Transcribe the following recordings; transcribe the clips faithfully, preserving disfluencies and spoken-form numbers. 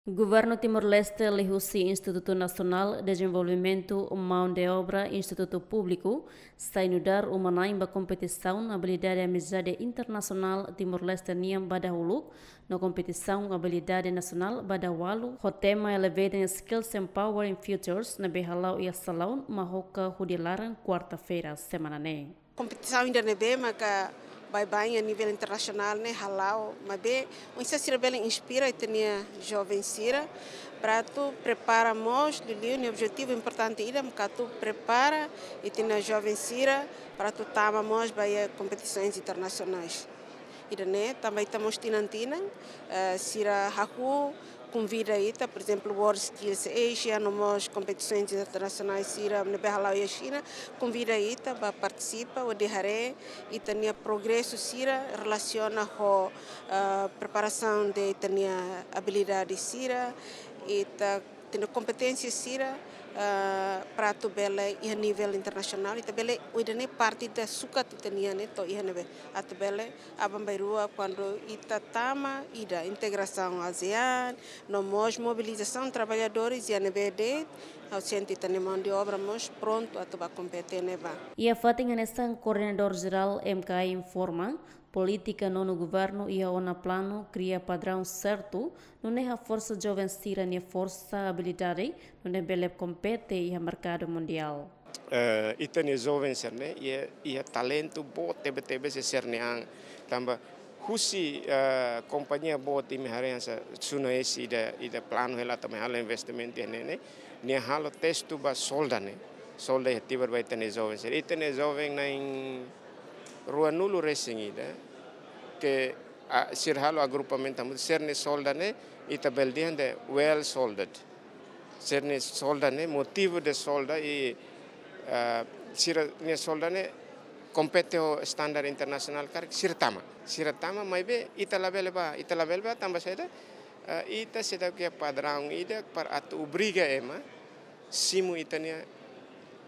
Governu Timor-Leste liuhusi Institutu Nasionál Dezenvolvimentu Maun de Obra Institutu Públiku sai nu'udar uma-na'in ba kompetisaun Abilidade Amizade Internasionál Timor-Leste nian ba dahuluk, no kompetisaun Abilidade Nasionál ba dahwalu, ho tema Elevating Skills, Empowering Futures, ne'ebé hala'o iha salaun Mahoka hodi laran, kuarta-feira semana ne'e. Kompetisaun ida ne'ebé maka baibain iha nivel internasionál ne'e hala'o, maibé oinsá sira bele inspira ita-nia joven sira, para atu prepara mós, liuliu nia objetivu importante ida maka atu prepara ita-nia joven sira para atu tama mós ba iha kompetisoens internasionais. Ida-ne'e tanba ita mós tinan-tinan, eh, sira hahú konvida ita, por ezemplu, World Skills Asia, no mós kompetisoens internasionais sira ne'ebé hala'o iha Xina, konvida ita ba partisipa hodi haree ita-nia progresu sira relasiona ho, eh, preparasaun de ita-nia abilidade sira, ita-nia kompeténsia sira, eh, para atu bele iha nivel internasionál, ita bele, ida-ne'e parte ida sukat ita-nian ne'e to'o iha ne'ebé, atu bele aban-bainrua kuandu ita tama ida integrasaun ASEAN, no mós mobilizasaun traballadores iha ne'ebé de'it, ha'u sente ita-nia maun de obra mós prontu atu ba kompete ne'ebá. Iha fatin hanesan, Koordenadór Jerál M K I informa, polítika nonu governu iha ona planu kria padraun sertu, nune'e haforsa joven sira-nia forsa, abilidade, nune'e bele kompete iha merkadu mundiál. Eh, ita-nia joven sira-ne'e iha, iha talentu boot tebetebes iha sira-nia an. Tanba husi, eh, kompañia boot imi haree hanesan Suno S ida, ida planu hela atu mai halo investimentu iha ne'e ne'e, nia halo testu ba solda ne'e. Solda iha Tibar ba ita-nia joven sira. Ita-nia joven na'in ruanulu resin ida, ke, ah, sira halo agrupamentu hamutuk, sira-nia solda ne'e ita bele dehan de'it well solded. Sira-nia solda ne'e, motivu de solda i, ah, sira-nia solda ne'e kompete ho standar internasionál karik sira tama. Sira tama, maibé ita labele bá, ita labele bá tanba saida, ah, ita seidauk iha padraun ida para atu obriga ema simu ita-nia,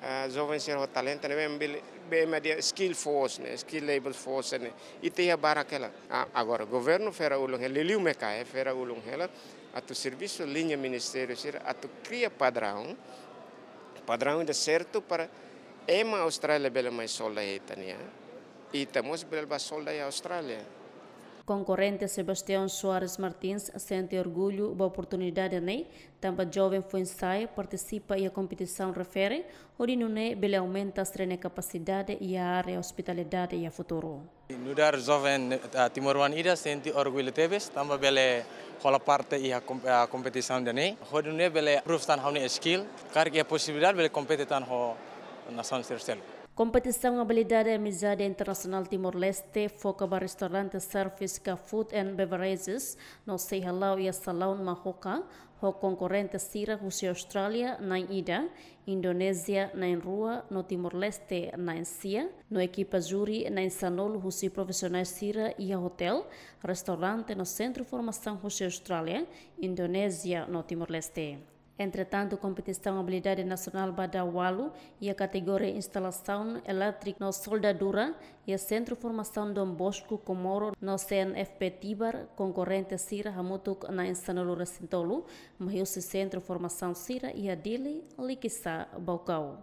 ah, joven sira ho talentu ne'ebé ema bele, be ema dehan skill force ne'e, skill labor force ne'e. Ita iha barak hela. Ah, agora, governu fera ulun hela, liuliu M K I fera ulun hela atu servisu liña ministériu sira atu kria padraun, padraun ida sertu para ema Austrália bele mai solda iha ita-nia an, ita mós bele bá solda iha Austrália. Konkorrente Sebastião Soares Martins sente orgullu ba oportunidade ne'e, tanba joven foin-sa'e partisipa iha kompetisaun refere, hodi nune'e bele aumenta sira-nia kapasidade iha área ospitalidade iha futuru. Nu'udar joven, ah, timoroan ida sente orgullu tebes, tanba bele hola parte iha kom-, ah, kompetisaun ida-ne'e, hodi nune'e bele prove tan ha'u-nia skill, karik iha posibilidade bele kompete tan ho nasaun sira seluk. Kompetisaun Abilidade Amizade Internasionál Timor-Leste foka ba restaurante service ka food and beverages, no sei hala'o iha salaun Mahoka, ho konkorrente sira husi Austrália na'in ida, Indonézia na'in rua, no Timor-Leste na'in sia, no ekipa júri na'in sanulu husi profisionais sira iha hotel, restaurante no sentru formasaun husi Austrália, Indonézia no Timor-Leste. Entretantu, kompetisaun Abilidade Nasionál ba dahwalu iha kategoria instalasaun elétrika no soldadura iha Sentru Formasaun Dom Bosco Comoro no C N F P Tibar, konkorrente sira hamutuk na'in sanulu resin tolu, mai husi sentru formasaun sira iha Dili, Likisá, Baucau.